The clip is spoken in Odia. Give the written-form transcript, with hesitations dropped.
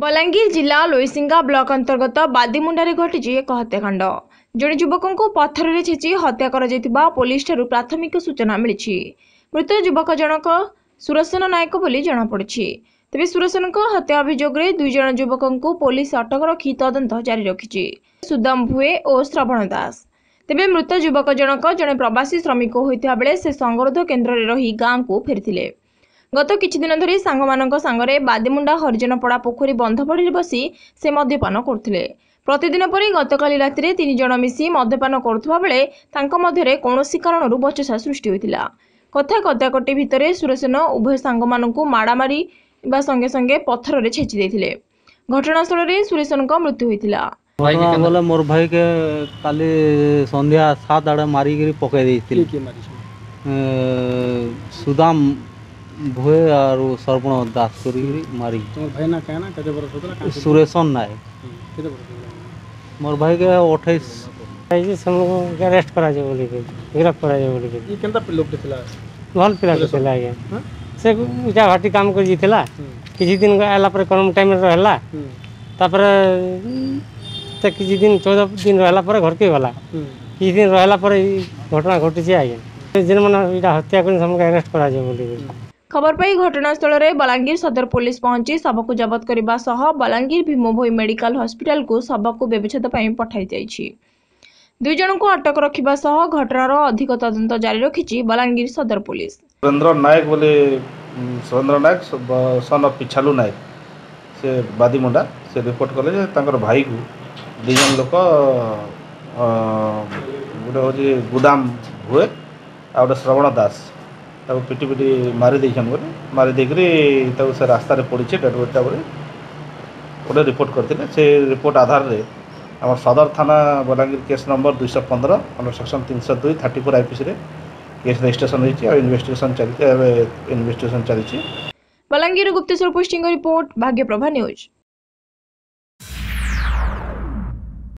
ବଲାଙ୍ଗୀର ଜିଲ୍ଲା ଲୋଇସିଙ୍ଗା ବ୍ଲକ ଅନ୍ତର୍ଗତ ବାଦିମୁଣ୍ଡାରେ ଘଟିଛି ଏକ ହତ୍ୟାକାଣ୍ଡ। ଜଣେ ଯୁବକଙ୍କୁ ପଥରରେ ଛେଚି ହତ୍ୟା କରାଯାଇଥିବା ପୋଲିସଠାରୁ ପ୍ରାଥମିକ ସୂଚନା ମିଳିଛି। ମୃତ ଯୁବକ ଜଣକ ସୁରସନ ନାୟକ ବୋଲି ଜଣାପଡ଼ିଛି। ତେବେ ସୁରସନଙ୍କ ହତ୍ୟା ଅଭିଯୋଗରେ 2 ଜଣ ଯୁବକଙ୍କୁ ପୋଲିସ ଅଟକ ରଖି ତଦନ୍ତ ଜାରି ରଖିଛି, ସୁଦାମ ଭୁଏ ଓ ଶ୍ରବଣ ଦାସ। ତେବେ ମୃତ ଯୁବକ ଜଣକ ଜଣେ ପ୍ରବାସୀ ଶ୍ରମିକ ହୋଇଥିବା ବେଳେ ସେ ସଙ୍ଗରୋଧ କେନ୍ଦ୍ରରେ ରହି ଗାଁକୁ ଫେରିଥିଲେ। ଗତ କିଛି ଦିନ ଧରି ସାଙ୍ଗମାନଙ୍କ ସାଙ୍ଗରେ ବାଦିମୁଣ୍ଡା ହରିଜନପଡ଼ା ପୋଖରୀ ବନ୍ଧପଡ଼ିରେ ବସି ସେ ମଦ୍ୟପାନ କରୁଥିଲେ। ପ୍ରତିଦିନ ପରି ଗତକାଲି ରାତିରେ 3 ଜଣ ମିଶି ମଦ୍ୟପାନ କରୁଥିବା ବେଳେ ତାଙ୍କ ମଧ୍ୟରେ କୌଣସି କାରଣରୁ ବଚସା ସୃଷ୍ଟି ହୋଇଥିଲା। କଥା କଟାକଟି ଭିତରେ ସୁରସେନ ଉଭୟ ସାଙ୍ଗମାନଙ୍କୁ ମାଡ଼ାମାରି ବା ସଙ୍ଗେ ସଙ୍ଗେ ପଥରରେ ଛେଚି ଦେଇଥିଲେ। ଘଟଣାସ୍ଥଳରେ ସୁରେଶନଙ୍କ ମୃତ୍ୟୁ ହୋଇଥିଲା। ଘଟଣା ବୋଲେ ମୋର୍ ଭାଇକେ କାଲି ସନ୍ଧ୍ୟା 7 ଆଡ଼େ ମାରିକିରି ପକେଇ ଦେଇଥିଲେ। ସୁଦାମ ଭୁଏ ଆରୁ ଶ୍ରବଣ ଦାସ କରିକିରି ମାରି। ଭାଇ ନା କାଣା, କେତେ ବରଷ ହଉଥିଲା? ସୁରେଶନ ନାୟକ। କେତେ ବରଷ ହଉଥିଲା ମୋର୍ ଭାଇକେ? 28। ହେଇଛି, ସେମାନଙ୍କୁ ଆରେଷ୍ଟ କରାଯିବ ବୋଲିକି, ଗିରଫ କରାଯିବ ବୋଲିକି। ଇଏ କେନ୍ତା ଲୋକଟେ ଥିଲା? ଭଲ ପିଲାଟେ ଥିଲା ଆଜ୍ଞା। ସେ ଇଟା ଭାଟି କାମ କରି ଯାଇଥିଲା। କିଛି ଦିନ ଆଇଲା ପରେ କମ୍ ଟାଇମ୍ରେ ରହିଲା। ତାପରେ ସେ କିଛି ଦିନ 14 ଦିନ ରହିଲା ପରେ ଘରକେ ଗଲା। କିଛି ଦିନ ରହିଲା ପରେ ଏଇ ଘଟଣା ଘଟିଛି ଆଜ୍ଞା। ଯେନ୍ମାନେ ଏଇଟା ହତ୍ୟା କରି ସେମାନଙ୍କୁ ଆରେଷ୍ଟ କରାଯିବ ବୋଲିକି। ଖବର ପାଇ ଘଟଣାସ୍ଥଳରେ ବଲାଙ୍ଗୀର ସଦର ପୋଲିସ ପହଞ୍ଚି ଶବକୁ ଜବତ କରିବା ସହ ବଲାଙ୍ଗୀର ଭୀମଭୋଇ ମେଡିକାଲ ହସ୍ପିଟାଲକୁ ଶବକୁ ବ୍ୟବଚ୍ଛେଦ ପାଇଁ ପଠାଯାଇଛି। 2 ଜଣଙ୍କୁ ଅଟକ ରଖିବା ସହ ଘଟଣାର ଅଧିକ ତଦନ୍ତ ଜାରି ରଖିଛି ବଲାଙ୍ଗୀର ସଦର ପୋଲିସ। ସୁରେନ୍ଦ୍ର ନାୟକ ବୋଲି, ସୁରେନ୍ଦ୍ର ନାୟକ ସନ୍ ଅଫ୍ ପିଛାଲୁ ନାୟକ, ସେ ବାଦିମୁଣ୍ଡା, ସେ ରିପୋର୍ଟ କଲେ ଯେ ତାଙ୍କର ଭାଇକୁ 2 ଜଣ ଲୋକ, ଗୋଟେ ହେଉଛି ଗୁଦାମ ହୁଏ ଆଉ ଗୋଟେ ଶ୍ରବଣ ଦାସ, ତାକୁ ପିଟି ପିଟି ମାରି ଦେଇଛନ୍ ବୋଲି, ମାରି ଦେଇକରି ତାକୁ ସେ ରାସ୍ତାରେ ପଡ଼ିଛି ଡେଡ଼୍ ବଡ଼ିଟା ବୋଲି ଗୋଟେ ରିପୋର୍ଟ କରିଥିଲେ। ସେ ରିପୋର୍ଟ ଆଧାରରେ ଆମର ସଦର ଥାନା Balangir case number 215 under section 302 34 ଆଇପିସିରେ କେସ୍ ରେଜିଷ୍ଟ୍ରେସନ୍ ହେଇଛି ଆଉ ଇନଭେଷ୍ଟିଗେସନ୍ ଚାଲିଛି। ଏବେ ଇନଭେଷ୍ଟିଗେସନ୍ ଚାଲିଛି। ବଲାଙ୍ଗୀର ଗୁପ୍ତେଶ୍ୱର ପୃଷ୍ଟିଙ୍କ ରିପୋର୍ଟ, ଭାଗ୍ୟପ୍ରଭା ନ୍ୟୁଜ୍।